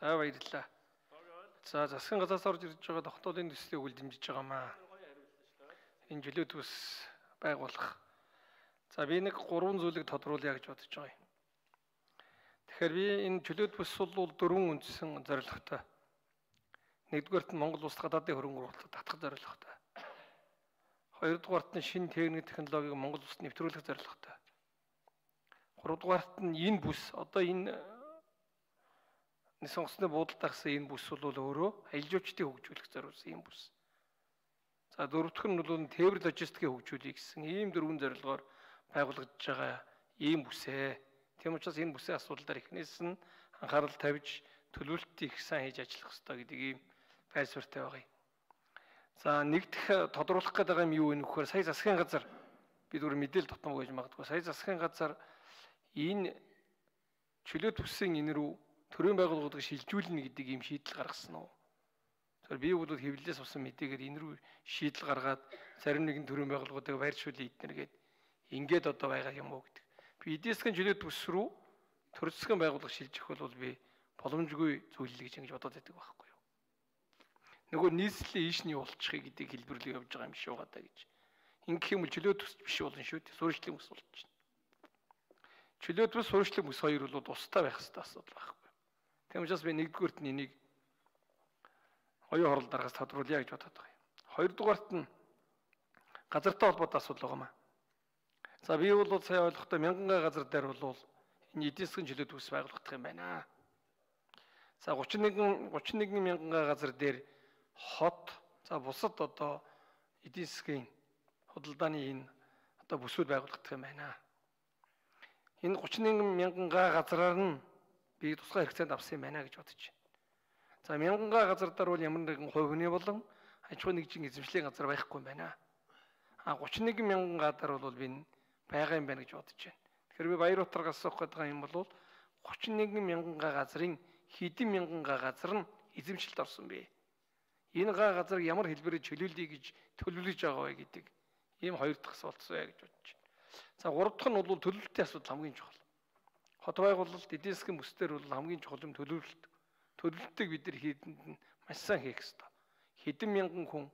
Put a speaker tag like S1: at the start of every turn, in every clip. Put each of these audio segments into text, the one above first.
S1: За баярлалаа. За засгийн газраас орж ирж байгаа тогтоолын төслийг үлдэмжиж байгаамаа. Энэ чөлөөт бүс байгуулах. За би нэг 3 зүйлийг тодруулъя гэж бодож байгаа юм. Тэгэхээр би энэ чөлөөт бүс бол 4 үндсэн зорилготой. Нэгдүгээрт нь Монгол улс гадаадын хөрөнгө оруулалтад татах зорилготой. Хоёрдугаарт нь шинэ техник технологиг Монгол улсад нэвтрүүлэх зорилготой. Гуравдугаарт нь энэ бүс одоо энэ сонгоцны буудалд агсан энэ бүс бол өөрөө аялал жуулчдыг хөгжүүлэх зориулсан энэ бүс. За дөрөвдөх нь бол тээвэр логистикийг хөгжүүлэх гэсэн ийм 4 зорилгоор байгуулагдж байгаа ийм бүсээ. Тийм учраас энэ бүсийн асуудал дээр эхнээс нь анхаарал тавьж төлөвлөлтийг их сайн хийж ажиллах хэрэгтэй гэдэг ийм байр суурьтай байгаа юм. За нэгдэх тодруулах гэдэг юм юу вэ нөхөр сая засгийн газар бид өөр мэдээлэл тутам гэж магадгүй сая засгийн газар энэ чөлөөт бүсийн энэ рүү төрийн байгууллагуудыг шилжүүлнэ гэдэг ийм шийдэл гаргасан уу? Тэгэхээр би бол хэвлэлээс авсан мэдээгээр энэ рүү шийдэл гаргаад зарим нэгэн төрийн байгууллагуудыг байршуулъя эднэргээд ингээд одоо байгаа юм уу гэдэг. Би эдийн засгийн чөлөөт бүс рүү төр засгийн байгууллага шилжих бол би боломжгүй зүйл л гэж ингэж бодоод байдаг байхгүй юу? Нөгөө нийслэлийн ийш нь явуулчихъя гэдэг хэлбэрлэл явж байгаа юм шиг байгаа даа гэж. Ингэх юм бол чөлөөт бүс биш болно шүү дээ. Суурьшлийн бүс болчихно. Чөлөөт бүс, суурьшлийн бүс хоёр бол тустай байх хэрэгтэй асуудал байхгүй. Тийм учраас би нэгдүгээрт нь энийг оюун хорол дараагаас тодруулъя гэж бодоод байгаа юм. Хоёрдугаарт нь газартай холбоотой асуудал байгаамаа. За би бол сайн ойлгохдоо 1000 га газар дээр бол энэ эдийн засгийн чөлөөт бүс байгуулагдах юм байна. За 31 мянган га газар дээр хот за бусад одоо эдийн засгийн худалдааны энэ одоо бүсүүд байгуулагдах юм байна. Энэ 31 мянган га газраар нь би тусгай хэрэгцээнд авсан юм байна гэж бодож байна. За 1000 га газар дээр бол ямар нэгэн хувь хүний болон аж ахуйн нэгжийн эзэмшлийн газар байхгүй юм байна. 31 мянган га дээр бол би байгаа юм байна гэж бодож байна. Тэгэхээр би Баярутаргаас асуух гэдэг юм бол 31 мянган га газрын хэдэн мянган га газар нь эзэмшилд орсон бэ? Энэ га газар ямар хэлбэрээр чөлөөлөе гэж төлөвлөж байгаа вэ гэдэг ийм хоёр дахь асуулт байна гэж бодож байна. За гурав дахь нь бол төлөвлөлтийн асуудал хамгийн чухал. Хот байгуулалт эдийн засгийн бүсдэр бол хамгийн чухал юм төлөвлөлт. Төлөвлөлтийг бид нар хийдэнд нь маш сайн хийх ёстой. Хэдэн мянган хүн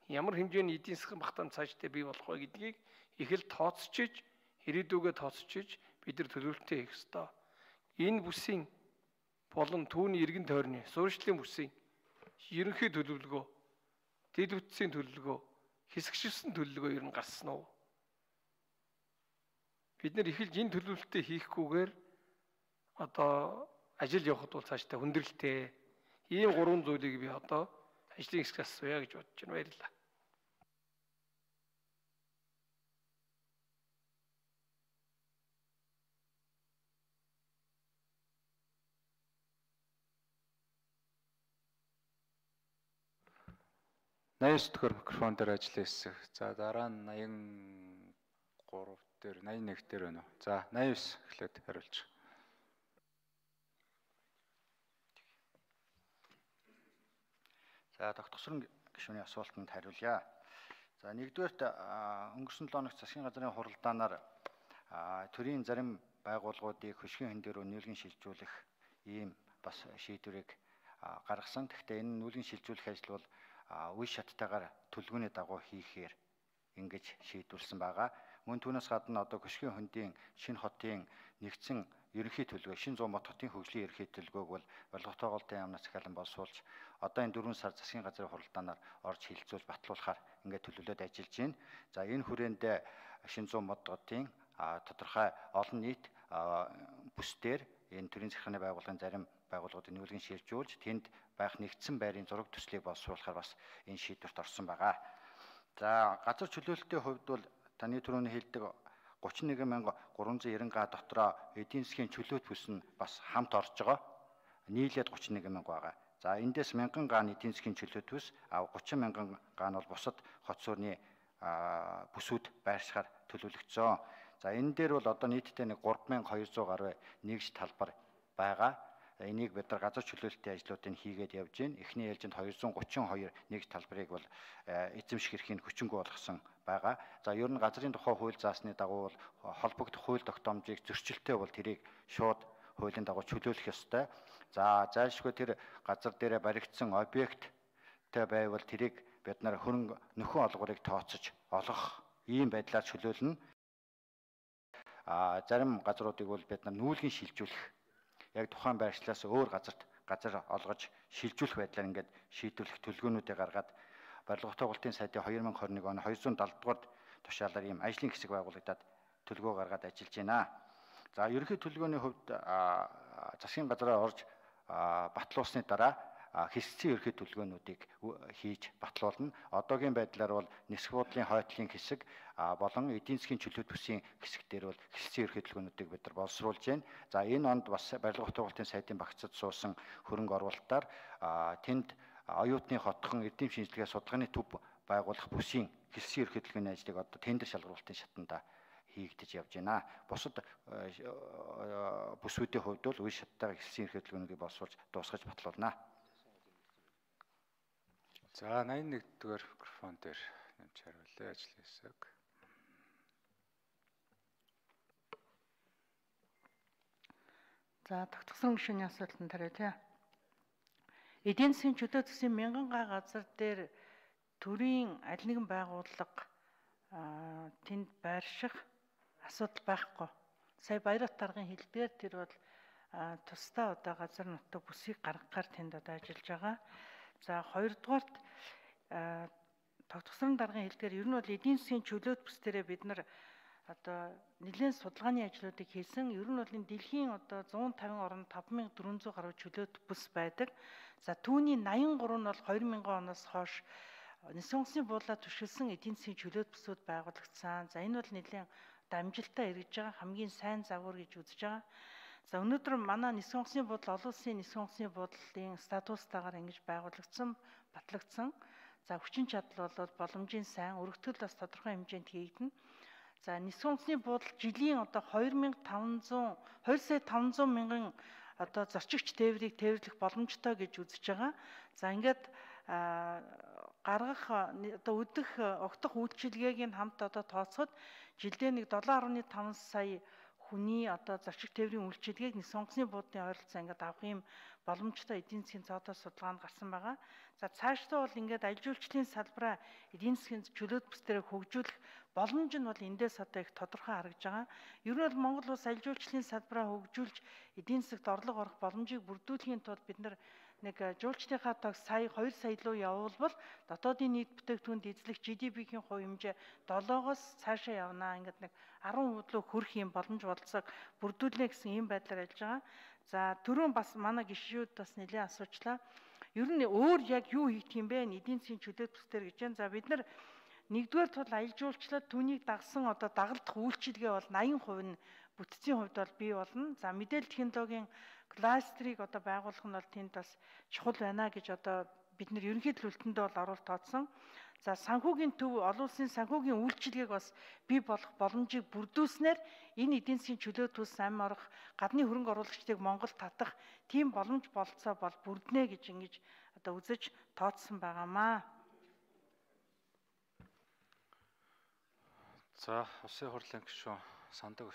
S1: ямар хэмжээний эдийн засгийн багтаамж цаашдаа бий болох вэ гэдгийг их л тооцчиж, ирээдүгөө тооцчиж бид нар төлөвлөлтөө хийх ёстой. Энэ бүсийн болон түүний иргэн тойрны суурьшлийн бүсийн ерөнхий төлөвлөгөө, дэд бүтцийн төлөвлөгөө, хэсэгчилсэн төлөвлөгөө ер нь гарсан уу? Бид нар эхэлж энэ төлөвлөлтөө хийхгүйгээр одоо ажил явахд бол цаашдаа хүндрэлтэй. Ийм 3 зүйлийг би одоо ажлын хэсгээс асууя гэж бодож байна. Баярлалаа.
S2: Найс төхөр микрофон дээр ажиллах хэсэг. За дараа нь 83 дээр 81 дээр байна уу? За 89 эхлээд хариулж.
S3: За тогтгосрон гишүүний асуултанд хариулъя. За нэгдүгээрт өнгөрсөн 7 хоногт засгийн газрын хуралдаанаар төрийн зарим байгууллагуудыг хөшгийн хэн дээр нүүлгэн шилжүүлэх ийм бас шийдвэрийг гаргасан. Гэхдээ энэ нүүлгэн шилжүүлэх ажил бол үе шаттайгаар төлөвлөгөөний дагуу хийхээр ингэж шийдвэрлсэн байгаа. Мөн түүнээс гадна одоо хөшгийн хөндийн шинэ хотын нэгдсэн ерөнхий төлөвлөгөө, шинэ 100 мод хотын хөгжлийн ерөнхий төлөвлөгөөг бол болготойголтын яамнаас захиалан боловсруулж одоо энэ 4 сар засгийн газрын хуралдаанаар орж хилцүүлж батлуулахаар ингээд төлөвлөд ажиллаж байна. За энэ хүрээнд шинэ 100 мод хотын тодорхой олон нийт бүсдэр энэ төрийн захиргааны байгууллагын зарим байгууллагуудыг нүүлгэн шилжүүлж тэнд байх нэгдсэн байрын зураг төслийг боловсруулахаар бас энэ шийдвэрт орсон байгаа. За газар чөлөөлөлтийн хувьд бол таны түрүүний хэлдэг 31390 га дотроо эдийн засгийн чөлөөт бүс нь бас хамт орж байгаа. Нийлээд 31 мянга байгаа. За эндээс 1000 га нь эдийн засгийн чөлөөт бүс, 30 мянган га нь бол бусад хот суурны бүсүүд байршихаар төлөвлөгдсөн. За энэ дээр бол одоо нийтдээ нэг 3200 гаруй нэгж талбар байгаа. Энийг бид нар газар чөлөөлөлтийн ажлуудыг хийгээд явж байна. Эхний ээлжинд 232 нэгж талбарыг бол эзэмших эрхийг хүчингү болгосон байгаа. За ер нь газрын тухай хууль заасны дагуу бол холбогдох хууль тогтоомжийг зөрчилтэй бол тэрийг шууд хуулийн дагуу чөлөөлөх ёстой. За зайлшгүй тэр газар дээрээ баригдсан объекттэй байвал тэрийг бид нар хөрөнгө нөхөн олгорыг тооцож олгох ийм байдлаар чөлөөлнө. Зарим газруудыг бол бид нар нүүлгэн шилжүүлэх, яг тухайн байршлаас өөр газар олгож шилжүүлэх байдлаар ингээд шийдвэрлэх төлөвлөгөөнүүдийг гаргаад барилга тогтоолтын сайдын 2021 оны 270 дугаар тушаалаар ийм ажлын хэсэг байгуулагдаад төлөвлөгөө гаргаад ажиллаж байна. За ерөнхий төлөвлөгөөний хувьд засгийн газараа орж батлуулсны дараа хэсэгцийн ерөнхий төлөвлөгөөнүүдийг хийж батлуулна. Одоогийн байдлаар бол нисэх буудлын хойтлын хэсэг болон эдийн засгийн чөлөөт бүсийн хэсэг дээр бол хэсэгцийн ерөнхий төлөвлөгөөнүүдийг бид нар боловсруулж байна. За энэ онд бас барилга тогтоолтын сайдын багцад суусан хөрөнгө оруулалтаар тэнд оюутны хотхон эрдэм шинжилгээ судалгааны төв байгуулах бүсийн хэсэгцийн ерөнхий төлөвлөгөөний ажлыг одоо тендер шалгуулалтын шатанда хийгдэж явж байна. Бусад бүсүүдийн хувьд бол үе шаттайгаар хэсэгцийн ерөнхий төлөвлөгөөнийг боловсруулж дуусгаж батлуулна.
S2: За 81-р микрофон дээр нэмж хариулъя ажлын хэсэг.
S4: За тогтсон гишүүний асуултанд хариулъя. Эдийн засгийн чөлөө төсвийн 1000 га газар дээр төрийн аль нэгэн байгууллага тэнд байрших асуудал байхгүй. Сая Баярат даргын хэлбээр тэр бол тусдаа одоо газар нутаг бүсийг гаргахаар тэнд одоо ажиллаж байгаа. За хоёрдугаарт тогтсон даргын хэлбээр ер нь бол эдийн засгийн чөлөөт бүс дээрээ бид нар одоо нэлээд судалгааны ажлуудыг хийсэн. Ер нь бол энэ дэлхийн одоо 150 орнд 5400 гаруй чөлөөт бүс байдаг. За түүний 83 нь бол 2000 оноос хойш Нисэн онгоцны буудлаа түшгэлсэн эдийн засгийн чөлөөт бүсүүд байгуулагдсан. За энэ бол нэлээд амжилттай эргэж байгаа хамгийн сайн загвар гэж үзэж байгаа. За өнөөдөр манай Нисэн онгоцны буудлын олон улсын Нисэн онгоцны буудлын статустаагаар ингэж байгуулагдсан, батлагдсан. За хүчин чадал бол боломжийн сайн, өргөтгөл бас тодорхой хэмжээнд хийгдэнэ. За Нисэн онгоцны буудлын жилийн одоо 2,500 мянган одоо зорчигч тээврийг тээвэрлэх боломжтой гэж үзэж байгаа. За ингээд гаргах одоо огдох үйлчилгээг нь хамт одоо тооцоход жилдээ нэг 7.5 сая хүний одоо зорчигч тээврийн үйлчилгээг Нисэн онгоцны буудлын ойролцоо ингээд авах юм боломжтой эдийн засгийн цоодоо судалгаанд гарсан байгаа. За цаашдаа бол ингээд аялал жуулчлалын салбараа эдийн засгийн чөлөөт бүс дээр хөгжүүлэх боломж нь бол эндээс одоо их тодорхой харагдж байгаа. Ер нь бол Монгол улс аялал жуулчлалын салбараа хөгжүүлж эдийн засагт орлого орох боломжийг бүрдүүлэхийн тулд бид нэг жуулчдынхаа тог сая 2 сая руу явуулбал дотоодын нийт бүтээгдэхүүнд эзлэх GDP-ийн хувь хэмжээ 7-оос цаашаа явнаа. Ингээд нэг 10% руу хүрэх юм боломж болцоог бүрдүүлнэ гэсэн ийм байдлаар ажиллаж байгаа. За түрүүн бас манай гишүүд бас нэлээд асуучлаа. Ер нь өөр яг юу хийх юм бэ? Эдийн засгийн чөлөөт бүсдэр гэж байна. За бид нар нэгдүгээр тул аялал жуулчлалд түүнийг дагсан одоо дагалдах үйлчилгээ бол 80% нь бүтцийн хувьд бол бий болно. За мэдээлэл технологийн кластерыг одоо байгуулах нь бол тэнд бас чухал байна гэж одоо бид нар ерөнхий төлөвлөлтөндөө бол оруулалт тооцсон. За санхүүгийн төв олон улсын санхүүгийн үйлчилгээг бас бий болох боломжийг бүрдүүлснээр энэ эдийн засгийн чөлөөт бүс амь орох гадны хөрөнгө оруулагчдыг Монголд татах тийм боломж болцоо бол бүрднэ гэж ингэж одоо үзэж тооцсон байгаамаа.
S2: За улсын хурлын гишүүн Сандаг